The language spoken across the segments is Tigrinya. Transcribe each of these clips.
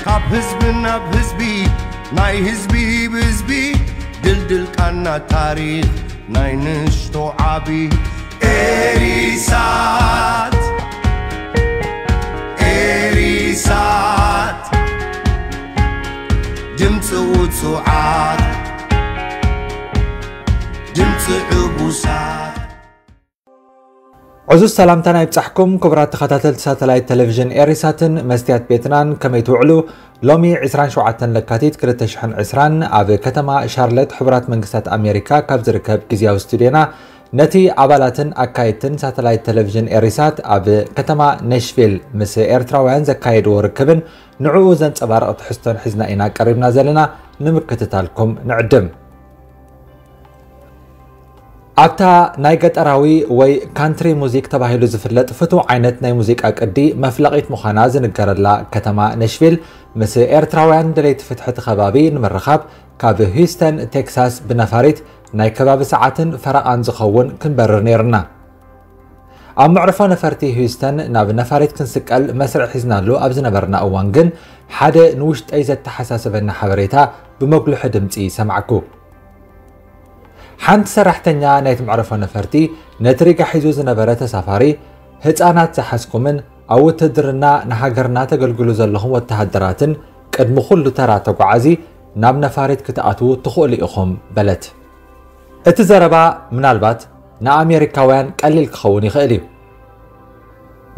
ካብ ህዝቢ ናብ ህዝቢ፣ ናይ ህዝቢ ብህዝቢ፣ ድልድል ቃና ታሪኽ ናይ ንእሽቶ ዓቢ። ኤሪሳት፣ ኤሪሳት፣ ድምፂ ውፁዓት፣ ድምፂ ዕቡሳት። ዕዙዝ ሰላምታና ይብጻሕኩም ክቡራት ተኸታተልቲ ሳተላይት ቴሌቪዥን ኤሪሳትን መስትያት ቤትናን፣ ከመይ ትውዕሉ? ሎሚ ዕስራን ሸውዓተን ለካቲት ክልተ ሽሕን ዕስራን ኣብ ከተማ ሻርለት ሕቡራት መንግስታት ኣሜሪካ ካብ ዝርከብ ግዝያዊ ስቱድዮና ነቲ ኣባላትን ኣካየድትን ሳተላይት ቴሌቪዥን ኤሪሳት ኣብ ከተማ ነሽቪል ምስ ኤርትራውያን ዘካየድዎ ርክብን ንዕኡ ዘንጸባርቕ ትሕዝቶን ሒዝና ኢና ቀሪብና ዘለና። ንምክትታልኩም ንዕድም። ኣብታ ናይ ገጠራዊ ወይ ካንትሪ ሙዚክ ተባሂሉ ዝፍለጥ ፍቱው ዓይነት ናይ ሙዚቃ ቅዲ መፍለቒት ምዃና ዝንገረላ ከተማ ነሽቪል፣ ምስ ኤርትራውያን ደለይቲ ፍትሒ እቲ ከባቢ ንምርኻብ ካብ ሂውስተን ቴክሳስ ብነፋሪት ናይ ከባቢ ሰዓትን ፈረቓን ዝኸውን ክንበርር ነይርና። ኣብ መዕርፎ ነፈርቲ ሂውስተን ናብ ነፋሪት ክንስቀል መስርዕ ሒዝናሉ ኣብ ዝነበርና እዋን ግን፣ ሓደ ንውሽጠይ ዘተሓሳሰበኒ ሓበሬታ ብመጉልሒ ድምጺ ሰማዕኩ። ሓንቲ ሰራሕተኛ ናይቲ መዕርፎ ነፈርቲ ነቲ ሪጋ ሒዙ ዝነበረ ተሳፋሪ፣ ህጻናት ዝሓዝኩምን ኣብ ውትድርና ንሃገርና ተገልግሉ ዘለኹም ወተሃደራትን ቅድሚ ኩሉ ተራ ተጓዓዚ ናብ ነፋሪት ክትኣትዉ ትኽእሉ ኢኹም በለት። እቲ ዘረባ ምናልባት ንኣሜሪካውያን ቀሊል ክኸውን ይኽእል እዩ።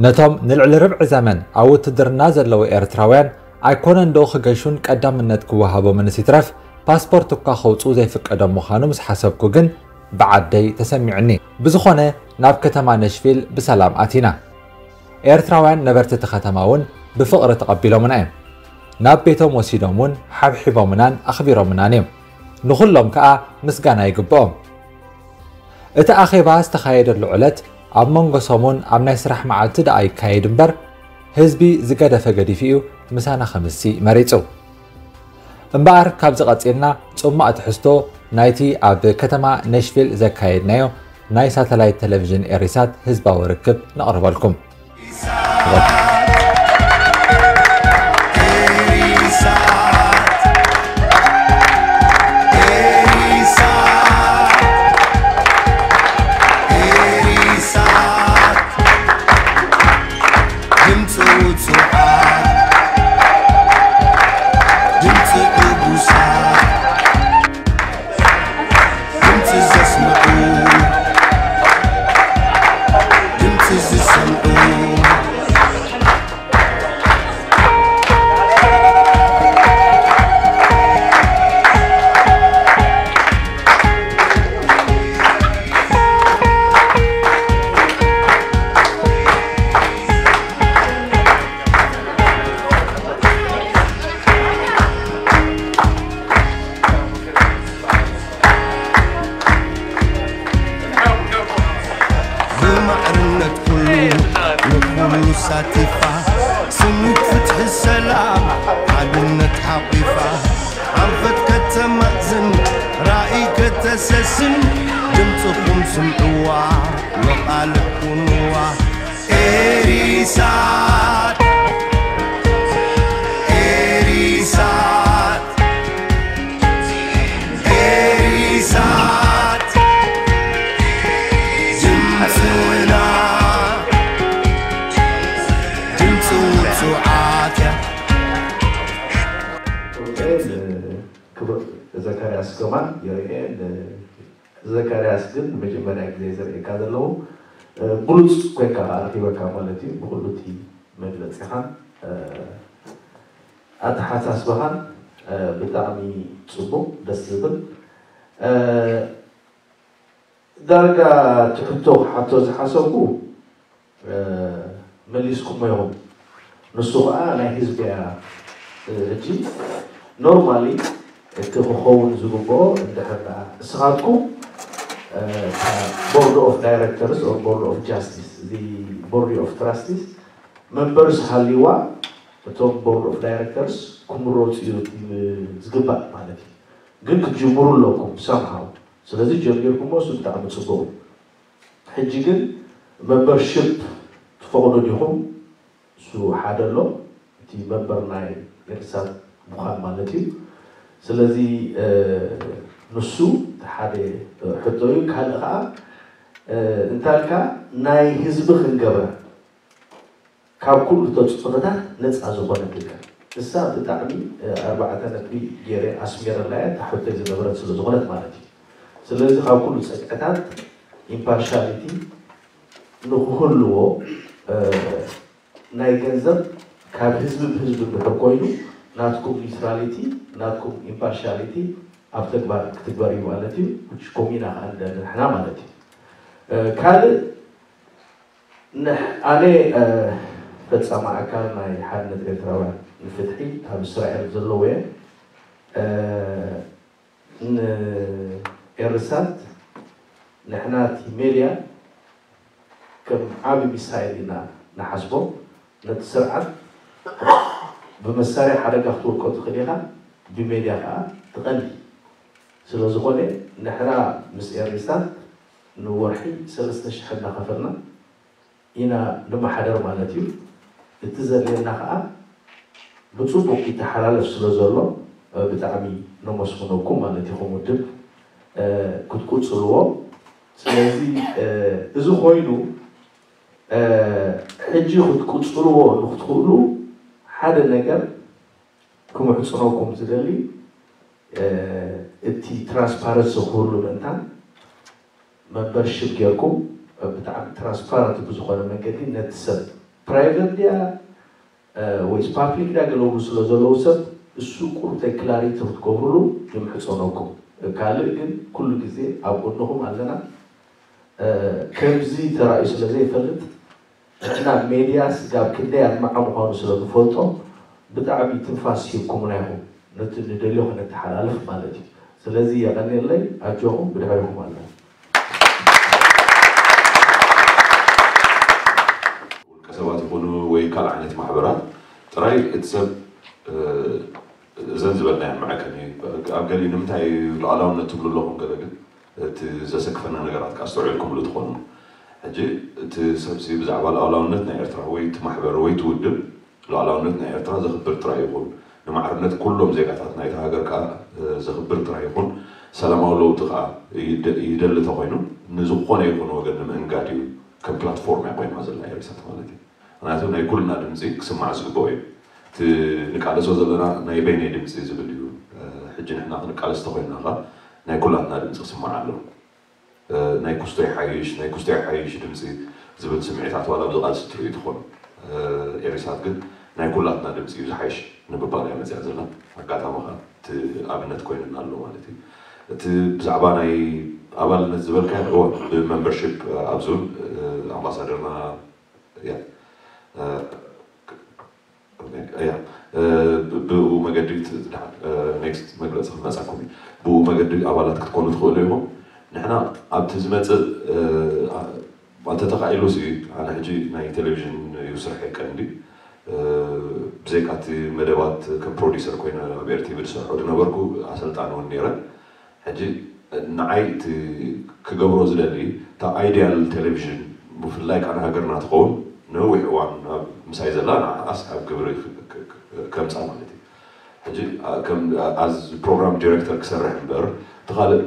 ነቶም ንልዕሊ ርብዒ ዘመን ኣብ ውትድርና ዘለዉ ኤርትራውያን ኣይኮነን ዶ ክገሹን ቀዳምነት ክወሃቦምንስ ይትረፍ ፓስፖርት እኳ ከውጽኡ ዘይፍቀዶም ምዃኑ ምስ ሓሰብኩ ግን ብዓደይ ተሰሚዑኒ። ብዝኾነ ናብ ከተማ ነሽቪል ብሰላም ኣቲና። ኤርትራውያን ነበርቲ እቲ ከተማ እውን ብፍቕሪ ተቐቢሎምና እዮም። ናብ ቤቶም ወሲዶም እውን ሓብሒቦምናን ኣኽቢሮምናን እዮም። ንኹሎም ከኣ ምስጋና ይግብኦም። እቲ ኣኼባ ዝተኻየደሉ ዕለት ኣብ መንጎ ሰሙን ኣብ ናይ ስራሕ መዓልቲ ደኣ ይካየድ እምበር፣ ህዝቢ ዝገደፈ ገዲፉ እዩ ምሳና ከምሲ መሪጹ። እምበኣር ካብዚ ቀጺልና ጽማእ ትሕዝቶ ናይቲ ኣብ ከተማ ነሽቪል ዘካየድናዮ ናይ ሳተላይት ቴሌቪዥን ኤሪሳት ህዝባዊ ርክብ ነቕርበልኩም። ድምፂ ውፁዓት፣ ድምፂ ዕቡሳት፣ ድምፂ ዘስምዑ፣ ድምፂ ዝሰምዑ። ብማዕርነት ኩሉ ንኩሉ ሳቲፋ፣ ስኒት ፍትሒ ሰላም ሓድነት ሓቂፋ፣ ኣንፈት ከተማእዝን ራእይ ከተሰስን፣ ድምፅኹም ስምዕዋ መቓልዕ ኩንዋ። ኤሪሳት፣ ኤሪሳት፣ ኤሪሳት፣ ድምፅና፣ ድምፂ ውፁዓት እያ። ክቡር ዘካርያስ ከማን ይርኤ። ዘካርያስ ግን ንመጀመርያ ግዜ ዝርእየካ ዘለዉ፣ እ፣ ብሉጽ ኮይንካ ኣርኪበካ ማለት እዩ። ብኹሉ እቲ መግለጺኻን፣ እ፣ ኣተሓሳስባኻን፣ እ፣ ብጣዕሚ ጽቡቕ፣ ደስ ዝብል። እ፣ ዳርጋ እቲ ሕቶ ክሓቶ ዝሓሰብኩ፣ እ፣ መሊስኩሞ ኢኹም። ንሱ ኸኣ ናይ ህዝቢ እያ። እ፣ ሕጂ ኖርማሊ እቲ ክኸውን ዝግብኦ እንድሕር ደኣ ንስኻትኩም፣ እ፣ እታ ቦርድ ኦፍ ዳይሬክተርስ ኦር ቦርድ ኦፍ ጃስቲስ፣ እዚ ቦርድ ኦፍ ትራስቲስ መንበርስ ሃልይዋ እቶም ቦርድ ኦፍ ዳይሬክተርስ ክምረፁ እዩ ዝግባእ ማለት እዩ። ግን ክትጅምሩ ኣለኩም ሰምሃው። ስለዚ ጀሚርኩሞ እሱ ብጣዕሚ ፅቡቕ እዩ። ሕጂ ግን መምበርሽፕ ትፈቕዱ ዲኹም? እሱ ሓደ ኣሎ። እቲ መንበር ናይ ኤርትሳት ምዃን ማለት እዩ። ስለዚ ንሱ ሓደ ሕቶ እዩ። ካልእ ከዓ እንታልካ ናይ ህዝቢ ክንገብራ ካብ ኩሉ ተፅዕኖታት ነፃ ዝኾነ ክልከል እሳ ብጣዕሚ ኣርባዕተ ነጥቢ ገይረ ኣስሜረላያ ተሕቶ ዝነበረት ስለ ዝኾነት ማለት እዩ። ስለዚ ካብ ኩሉ ፀግዕታት ኢምፓርሻሊቲ ንክህልዎ ናይ ገንዘብ ካብ ህዝቢ ብህዝቢ እንድሕር ኮይኑ ናትኩም ኒውትራሊቲ ናትኩም ኢምፓርሻሊቲ ኣብ ተግባር ክትግበር እዩ ማለት እዩ። ኮሚና ከዓ ንደሊ ንሕና ማለት እዩ። ካልእ ኣነ ፈፃሚ ኣካል ናይ ሓድነት ኤርትራውያን ንፍትሒ ኣብ እስራኤል ዘለዎ እየ። ንኤርሳት ንሕና እቲ ሜድያ ከም ዓብ ሚሳይል ኢና ንሓስቦ። ነቲ ስርዓት ብመሳርያ ሓደጋ ክትወድቆ ትኽእል ኢኻ፣ ብሜድያ ከዓ ትቐንዲ። ስለዝኾነ ንሕና ምስ ኤርሳት ንወርሒ ሰለስተ ሽሕ እናኸፈልና ኢና ንመሓደር ማለት እዩ። እቲ ዘድልየና ከዓ ብፅቡቅ ይተሓላለፍ ስለ ዘሎ ብጣዕሚ ነመስግነኩም ማለት እዩ። ከም ውድብ ክትቁፅልዎ። ስለዚ እዚ ኮይኑ ሕጂ ክትቁፅልዎ ንክትኽእሉ ሓደ ነገር ክምሕፅነኩም ዝደሊ እቲ ትራንስፓረንሲ ክህሉ ምእንታን መምበርሽፕ ጌርኩም ብጣዕሚ ትራንስፓረንት ብዝኾነ መንገዲ ነቲ ሰብ ፕራይቨት ድያ ወይስ ፓብሊክ ድያ ገለቡ ስለ ዘለዉ ሰብ እሱ ቁርብ ክላሪቲ ክትገብሩሉ ይምሕፀነኩም። ካልእ ግን ኩሉ ግዜ ኣብ ጎንኹም ኣለና። ከምዚ ተራእዩ ስለ ዘይፈልጥ ንሕና ሜድያ ስጋብ ክንደይ ኣድማዒ ምዃኑ ስለ ንፈልጦ ብጣዕሚ ትንፋስ ሂብኩምና ኢኹም ነቲ ንደልዮ ከነተሓላልፍ ማለት እዩ። ስለዚ የቐንየለይ ኣጆኹም ብድሕሪኹም ኣለና። ውልቀ ሰባት ይኹኑ ወይ ካልእ ዓይነት ማሕበራት ጥራይ እቲ ሰብ እዘን ዝበልናየን መዐቀኒ ኣብ ገሊኡ ንምንታይ ሉዓላውነት ትብሉ ኣለኹም ገለ ግን እቲ ዘሰክፈና ነገራት ከዓ ኣስተውዒልኩምሉ ትኾኑ። ሕጂ እቲ ሰብሲ ብዛዕባ ሉዓላውነት ናይ ኤርትራ ወይ እቲ ማሕበር ወይ እቲ ውድብ ሉዓላውነት ናይ ኤርትራ ዘኽብር ጥራይ ይኹን ንማዕርነት ኩሎም ዜጋታት ናይታ ሃገር ከዓ ዘኽብር ጥራይ ይኹን ሰላማዊ ለውጢ ከዓ ይደሊ ተኾይኑ ንዝኾነ ይኹን ወገን ንምእንጋድ እዩ ከም ፕላትፎርም እያ ኮይና ዘላ ኤሪሳት ማለት እዩ። ምክንያቱ ናይ ኩልና ድምፂ ክስማዕ ዝግበኦ እዩ። እቲ ንቃለሶ ዘለና ናይ በይነይ ድምፂ ዝብል እዩ። ሕጂ ንሕና ክንቃለስ ተኮይንና ከ ናይ ኩላትና ድምፂ ክስማዕ ኣለዎ። ናይ ኩስቶ ይሓይሽ ናይ ኩስቶ ይሓይሽ ድምፂ ዝብል ስምዒታት ዋላ ኣብዚ ቃልሲ ትርኢ ትኾኑ። ኤሪሳት ግን ናይ ኩላትና ድምፂ እዩ ዝሓይሽ ንምባል እያ መፅያ ዘላ። ኣጋጣሚ ከዓ እቲ ኣብነት ኮይንና ኣሎ ማለት እዩ። እቲ ብዛዕባ ናይ ኣባልነት ዝበልካዮ እወ ብመምበርሽፕ ኣብዚ እውን ኣምባሳደርና እያ እያ ብኡ መገዲ ኔክስት መግለፂ ክመፃኩም እዩ። ብኡ መገዲ ኣባላት ክትኮኑ ትኽእሉ ኢኹም። ንሕና ኣብቲ ዝመፅእ ተተኻኢሉ ሲ ኣነ ሕጂ ናይ ቴሌቪዥን እዩ ስርሐይ ቀንዲ ብዘይካ እቲ መደባት ከም ፕሮዲሰር ኮይነ ኣብ ኤርቲቪ ዝሰርሖ ዝነበርኩ ኣሰልጣኒ እውን ነይረ። ሕጂ ንዓይ እቲ ክገብሮ ዝደሊ እታ ኣይድያል ቴሌቪዥን ብፍላይ ከዓ ንሃገርና ትኸውን ነዊሕ እዋን ኣብ ምሳይ ዘላ ንዓኣስ ኣብ ግብሪ ከምፃ ማለት እዩ። ሕጂ ከም ኣዝ ፕሮግራም ዲሬክተር ክሰርሕ እምበር እቲ ካልእ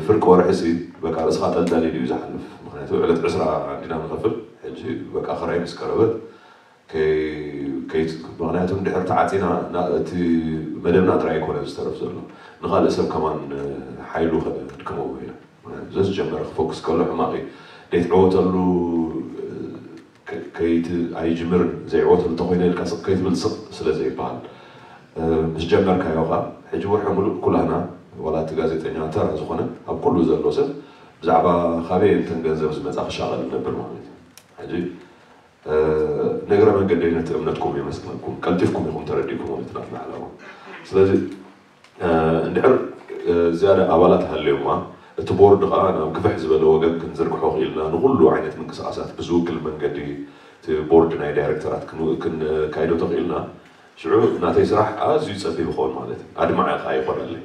ፍርቂ ወርሒ ሲ በቃ ርእስኻ ጠልጠል ኢሉ እዩ ዝሓልፍ። ምክንያቱ ዕለት ዕስራ እንዲና ንኸፍል ሕጂ በቃ ክራይ ምስ ቀረበት ምክንያቱ ድሕር ተዓፂና እቲ መደብና ጥራይ ኣይኮነ ዝተረፍ ዘሎ ንካልእ ሰብ ከማን ሓይሉ ከድክሞ ኢና። ዘዝጀመረ ክፎክስ ከሎ ሕማቕ እዩ። ዘይትዕወተሉ ኣይጅምርን ዘይዕወተሉ እንተኮይነ ኢልካ ስቕ ከይትብል ስቕ ስለ ዘይበሃል ምስ ጀመርካዮ ካ ሕጂ ወርሒ ሙሉእ ኩላህና ዋላ እቲ ጋዜጠኛ ተራ ዝኾነ ኣብ ኩሉ ዘሎ ሰብ ብዛዕባ ካበይ እንተን ገንዘብ ዝመፃ ክሻቐል ነብር ማለት እዩ። ሕጂ ንእግረ መንገደይ ነቲ እምነትኩም የመስግነኩም። ቀልጢፍኩም ኢኹም ተረዲእኩሞ ነቲ ናትና ዕላማ። ስለዚ እንድሕር ዝያዳ ኣባላት ሃልዮማ እቲ ቦርድ ከዓ ናብ ግፍሕ ዝበለ ወገን ክንዝርግሖ ክኢልና ንኩሉ ዓይነት ምንቅስቃሳት ብዝውክል መንገዲ እቲ ቦርድ ናይ ዳይሬክተራት ክንካይዶ ተኽኢልና ሽዑ ናተይ ስራሕ ኣዝዩ ፀቢብ ይኸውን ማለት እዩ። ኣድማዒ ከዓ ይኾነለይ።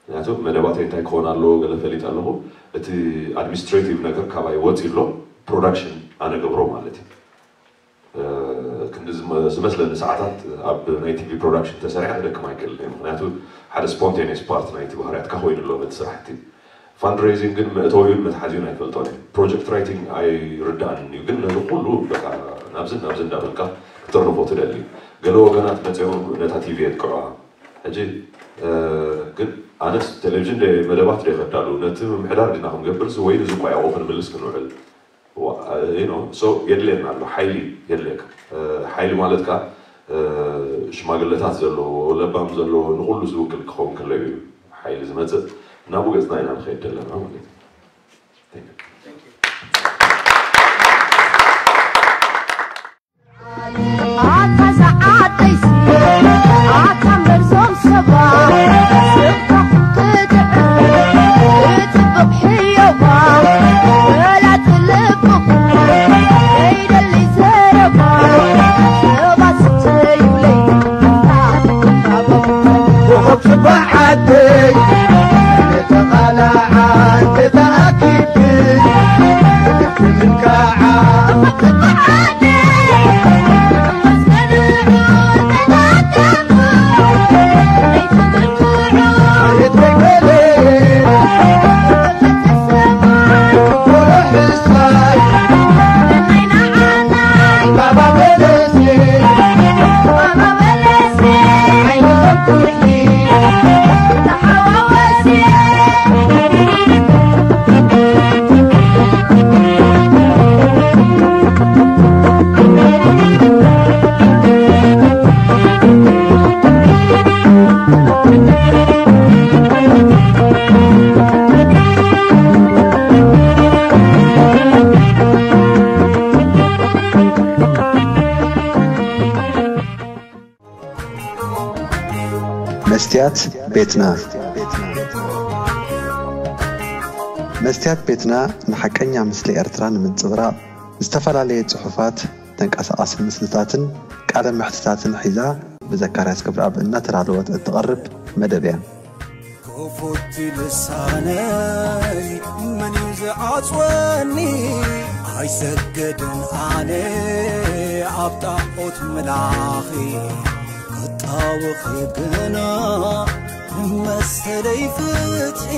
ምክንያቱ መደባተይ እንታይ ክኾን ኣለዎ ገለ ፈሊጥ ኣለኹ። እቲ ኣድሚኒስትሬቲቭ ነገር ካባይ ወፂ ኣሎ ፕሮዳክሽን ኣነ ገብሮ ማለት እዩ። ዝመ- ዝመስለኒ ሰዓታት ኣብ ናይ ቲቪ ፕሮዳክሽን ተሰሪዐ ክደክም ኣይክእልን እየ። ምክንያቱ ሓደ ስፖንቴኒየስ ፓርት ናይቲ ባህርያትካ ኮይኑ ኣሎ ነቲ ስራሕቲ። ፋንድሬዚንግ ግን መእተዊኡን መትሓዚኡን ኣይፈልጦን እየ። ፕሮጀክት ራይቲንግ ኣይርዳእን እዩ፣ ግን ነዚ ኩሉ በቃ ናብዝን ናብዝን እንዳበልካ ክትርንፎ ትደሊ። ገለ ወገናት መፅኦም ነታ ቲቪ የጥቅዑዋ። ሕጂ ግን ኣነስ ቴሌቪዥን ደ መደባት ደ ከዳሉ ነቲ ምምሕዳር ዲና ክንገብርስ ወይ ንዚ ቋያቑ ክንምልስ ክንውዕል? ሶ የድልየና ኣሎ ሓይሊ የድልየካ። ሓይሊ ማለት ከዓ ሽማግለታት ዘለዎ ለባም ዘለዎ ንኩሉ ዝውክል ክኸውን ከሎ እዩ ሓይሊ ዝመፅእ። እናቡ ገፅና ኢና ንኸይድ ዘለና ማለት እዩ። መስትያት ቤትና። መስትያት ቤትና ንሓቀኛ ምስሊ ኤርትራ ንምንጽብራቕ ዝተፈላለየ ጽሑፋት፣ ተንቀሳቓሲ ምስልታትን ቃለ መሕትታትን ሒዛ ብዘካርያስ ክብረኣብ እናተዳለወት እትቐርብ መደብ እያ። ክፉት ልሳነይ መን እዩ ዝዓጽወኒ? ኣይሰግድን ኣነ ኣብ ጣዖት ምላኺ፣ ክጣወኺ ግና መሰለይ ፍትሒ።